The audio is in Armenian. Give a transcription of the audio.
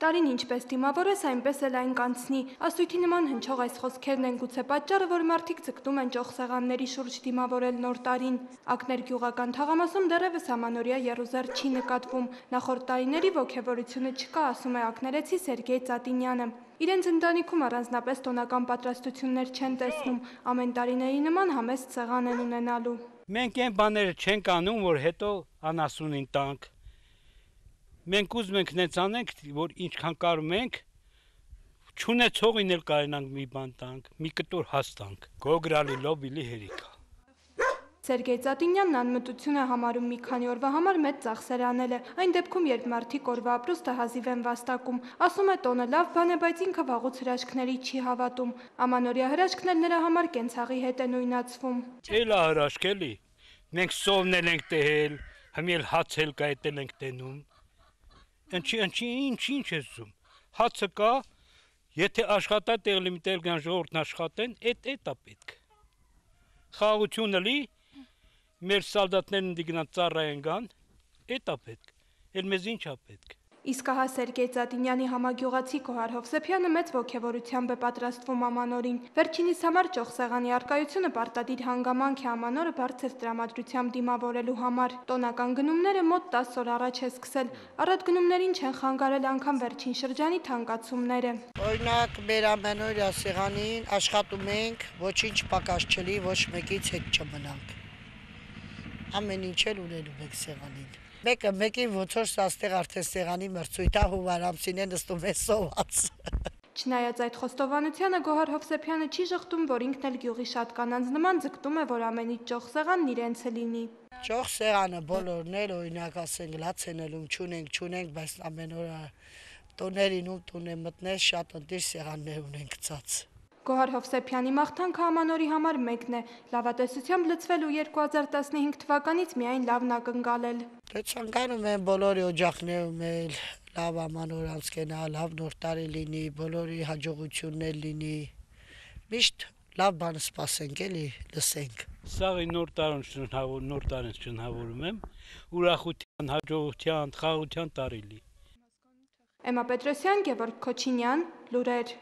Տարին ինչպես դիմավորես, այնպես էլ այն կանցնի։ Ասույթի նման հնչող այս խոսքերն են գուցե պատճառը, որ մարդիկ ձգտում են ճոխսեղանների շուրջ դիմավորել նոր տարին։ Ակներ գյուղական թաղամասում դեռևս ամանորյա եռուզեռ չի նկատվում։ Նախորդ տարիների ոգևորությունը չկա, ասում է ակներեցի Սերգեյ Ծատինյանը։ Իրենց ընտանիքում առանձնապես տոնական պատրաստություններ չեն տեսնում, ամեն տարիների նման համեստ սեղան են ունենալու։ Մենք այն բաները չենք անում, որ հետո անասունին տանք։ Մենք ուզում ենք նենց անենք, որ ինչքան կարում ենք, չունեցողին էլ կարենանք մի բան տանք, մի կտոր հաստանք, գոգրալի լոբիլի հերիքա։ Սերգեյ Ծատինյանն անմտություն է համարում մի քանի օրվա համար մեծ ծախսեր անել է, այն դեպքում, երբ մարդիկ օրվա ապրուստը հազիվ են վաստակում, ասում է տոնը լավ բան է, բայց ինքը վաղուց հրաշքների չի հավատում, ամանորյա հրաշքն էլ նրա համար կենցաղի հետ է նույնացվում։ Էլա հրաշք էլի, մենք սովնել ենք տեհել, հմիել հացել կա էտել ենք տենում, ինչ ես զում, հացը կա, եթե աշխատա տեղլի միտել գան ժողորդն աշխատեն, էտ է պետք, խաղությունը լի, մեր սալդատներն դիգնան ծառայեն գան, էտ է պետք, էլ մեզ ինչ է պետք։ Իսկ ահա Սերգեյ Ծատինյանի համագյուղացի Գոհար Հովսեփյանը մեծ ոգևորությամբ է պատրաստվում ամանորին։ Վերջինիս համար ճոխսեղանի առկայությունը պարտադիր հանգամանք է ամանորը բարձր տրամադրությամբ դիմավորելու համար։ Տոնական գնումները մոտ 10 օր առաջ է սկսել։ Առատ գնումներին չեն խանգարել անգամ վերջին շրջանի թանկացումները։ Օրինակ մեր ամանորյա սեղանին աշխատում ենք, ոչինչ պակաս չլի, ոչ մեկից հետ չմնանք։ Ամեն ինչ էլ ունենում ենք սեղանին։ Մեկի ոնց ստեղ արդեն սեղանի մրցույթա հունվար ամսին է նստում է սոված։ Չնայած այդ խոստովանությանը Գոհար Հովսեփյանը չի ժխտում, որ ինքն էլ գյուղի շատ կանանց նման ձգտում է, որ ամենից ճոխսեղանն իրենցը լինի։ Ճոխսեղանը բոլորն էլ օրինակ ասենք լացենելում չունենք, բայց ամեն օր տոներին ու տուն է մտնել շատ ընտիր սեղաններ ունենք գծած։ Գոհար Հովսեփյանի մաղթանքը ամանորի համար մեկն է՝ լավատեսությամբ լցվել ու 2015 թվականից միայն լավն ակնկալել։ Դե ցանկանում են բոլորի օջախներում էլ լավ ամանոր անցկենա, լավ նոր տարի լինի, բոլորի հաջողություններ լինի։ Միշտ լավ բան սպասենք էլի, լսենք։ Սաղի նոր տարին շնորհավորում եմ, ուրախության, հաջողության, խաղաղության տարի լի։ Էմմա Պետրոսյան, Գևորգ Քոչինյան, լուրեր։